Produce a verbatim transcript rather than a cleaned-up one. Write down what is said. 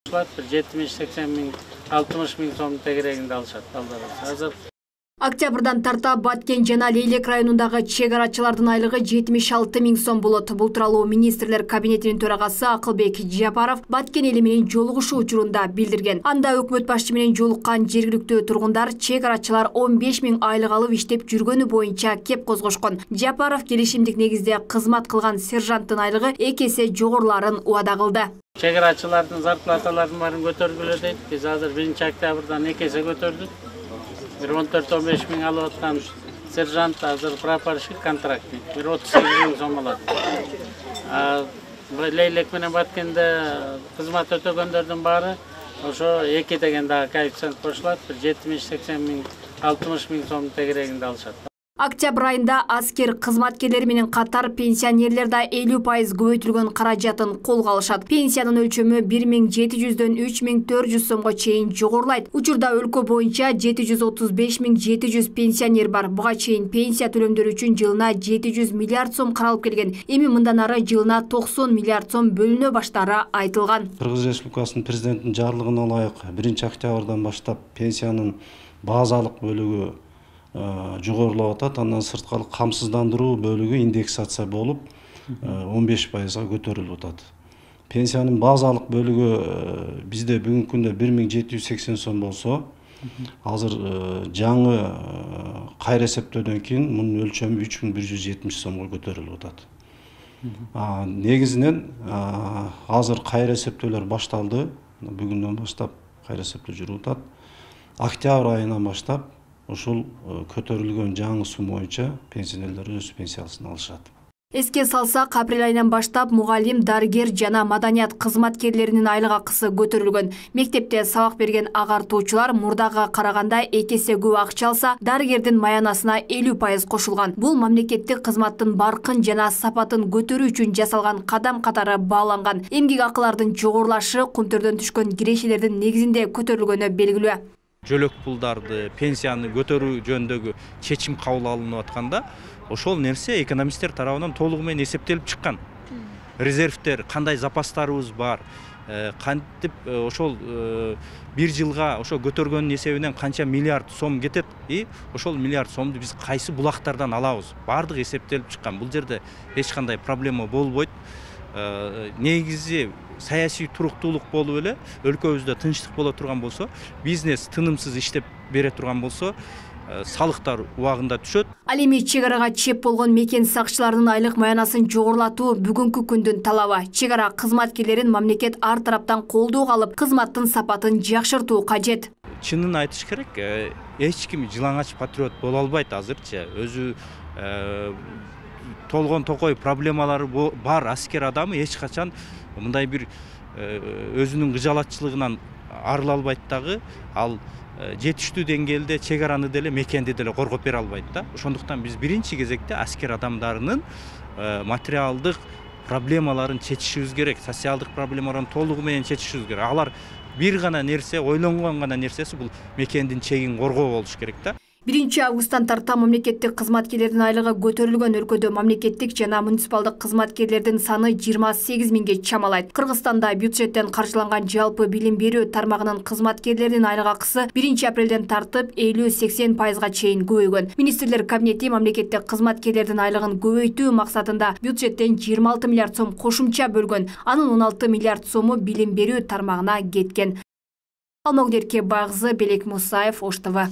жетимиш сексен миң алтымыш миң сом тегерегинде алышат азыр. Октябрдан тарта Баткен жана Лейлек районундагы чек арачылардын айлыгы жетимиш алты миң сом болот. Бул тууралуу министрлер кабинетинин төрагасы Акылбек Жапаров Баткен эли менен жолугушуу учурунда билдирген. Анда өкмөт башчы менен жолуккан жергиликтүү тургундар чек арачылар он беш миң айлык алып иштеп жүргөнү боюнча кеп козгошкон. Жапаров келишимдик негизде кызмат кылган сержанттын айлыгы эки эсе жогоруларын убада кылды. Чек арачылардын зарплаталарын баарын көтөргүлө дейт. Биз азыр биринчи октябрдан эки эсе көтөрдүк. Bir он төрт он беш миң алып аткан сержант азыр прапорщик контрактник bir отуз сегиз миң сом алат. Лейлек менен Баткенде кызмат өтөгөндөрдүн баары ошо эки деген дагы коэффициент кошулат, жетимиш сексен миң алтымыш миң сом тегерегинде алышат. Октябрь айында аскер кызматкерлери менен катар пенсионерлер да элүү пайыз көбөйтүлгөн каражатын колго алышат. Пенсиянын өлчөмү бир миң жети жүздөн үч миң төрт жүз сомго чейин жогорулайт. Учурда өлкө боюнча жети жүз отуз беш миң жети жүз пенсионер бар. Буга чейин пенсия төлөмдөрү үчүн жылына жети жүз миллиард сом каралып келген. Эми мындан ары жылына токсон миллиард сом бөлүнө баштаары айтылган. Кыргыз Республикасынын президентинин жарлыгына ылайык биринчи октябрдан баштап пенсиянын базалык бөлүгү жогорулап атат. Андан сырткары камсыздандыруу бөлүгү индексация болуп он беш пайызга көтөрүлүп атат. Пенсиянын базалык бөлүгү бизде бүгүнкү күндө бир миң жети жүз сексен сом болсо, азыр жаңы кайра эсептөөдөн кийин мунун өлчөмү үч миң бир жүз жетимиш сомго көтөрүлүп атат. Негизинен азыр кайра эсептөөлөр башталды. Бүгүндөн баштап кайра эсептөө жүрүп атат. Октябрь айынан баштап ошол көтөрүлгөн жаңы сум боюнча пенсионерлер өз пенсиясын алышат. Эске салсак, апрель айынан баштап мугалим, дарыгер жана маданият кызматкерлеринин айлык акысы көтөрүлгөн. Мектепте сабак берген агартуучулар мурдага караганда эки эсе көп акча алса, дарыгердин маянасына элүү пайыз кошулган. Бул мамлекеттик кызматтын баркын жана сапатын көтөрүү үчүн жасалган кадам катары бааланган. Эмгек акылардын жогорулашы кумтөрдөн түшкөн кирешелердин негизинде көтөрүлгөнү белгилүү. Жөлөк пулдарды, пенсияны көтөрүү жөнүндөгү чечим кабыл алынып атканда, ошол нерсе экономисттер тарабынан толугу менен эсептелип чыккан. Резервдер, кандай запастарыбыз бар, кантип ошол бир жылга ошо көтөргөндүн эсебинен канча миллиард сом кетет, и ошол миллиард сомду биз кайсы булактардан алабыз, бардыгы эсептелип чыккан. Бул жерде эч кандай проблема болбойт. Негизи саясий туруктуулук болуп эле өлкөбүздө тынчтык боло турган болсо, бизнес тынымсыз иштеп бере турган болсо, салыктар убагында түшөт. Ал эми чек арага чеп болгон мекен сакчыларынын айлык маянасын жогорулатуу бүгүнкү күндүн талабы. Чек ара кызматкерлерин мамлекет ар тараптан колдоого алып, кызматтын сапатын жакшыртуу кажет. Чынын айтыш керек, эч ким жылаңач патриот боло албайт азырчы. Өзү толгон токой проблемалары бар аскер адамы эч качан мындай бир өзүнүн кыжалатчылыгынан арыла албайт дагы, ал жетиштүү деңгээлде чек араны деле мекенди деле коргоп бере албайт да. Ошондуктан биз биринчи кезекте аскер адамдарынын материалдык проблемаларын чечишибиз керек, социалдык проблемаларын толугу менен чечишибиз керек. Алар бир гана нерсе, ойлонгон гана нерсеси бул мекендин чегин коргоо болуш керек да. биринчи августтан тарта мамлекеттик кызматкерлердин айлыгы көтөрүлгөн. Өлкөдө мамлекеттик жана муниципалдык кызматкерлердин саны жыйырма сегиз миңге чамалайт. Кыргызстанда бюджеттен каржыланган жалпы билим берүү тармагынын кызматкерлеринин айлык акысы биринчи апрелден тартып элүү сексен пайызга чейин көбөйгөн. Министрлер кабинети мамлекеттик кызматкерлердин айлыгын көбөйтүү максатында бюджеттен жыйырма алты миллиард сом кошумча бөлгөн. Анын он алты миллиард сому билим берүү тармагына кеткен. Алмагүл Эркебайкызы, Белек Мусаев, Ош Т В.